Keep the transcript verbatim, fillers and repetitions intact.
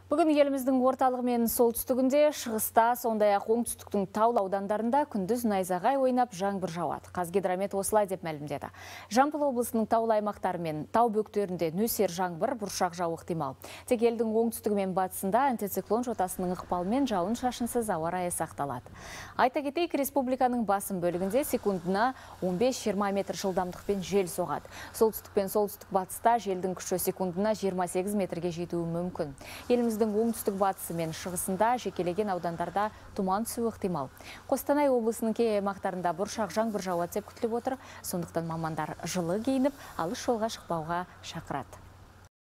Бүгін еліміздің орталығы мен солтүстігінде, шығыста, сондай-ақ оңтүстіктің таулы аудандарында күндіз найзағай ойнап жаңбыр жауады. Қазгидромет осылай деп мәлімдеді. Жамбыл облысының таулы аймақтары мен тау бөктерінде нөсер жаңбыр, бұршақ жауы ықтимал. Тек елдің оңтүстігі мен батысында антициклон жотасының ықпалымен жауын-шашынсыз ауа райы сақталады. Айта кетейік, республиканың басым бөлігінде секундына он бес жиырма метр жылдамдықпен жел соғады. Солтүстік пен солтүстік батыста желдің күші секундына жиырма сегіз метрге жетуі мүмкін. Еліміздің оңтүстік батысы мен шығысында жекелеген аудандарда тұман түсуі ықтимал. Қостанай облысының кей аймақтарында бұршақ жаңбыр жауады деп күтіліп отыр. Сондықтан мамандар жылы киініп, алыс жолға шықпауға шақырады.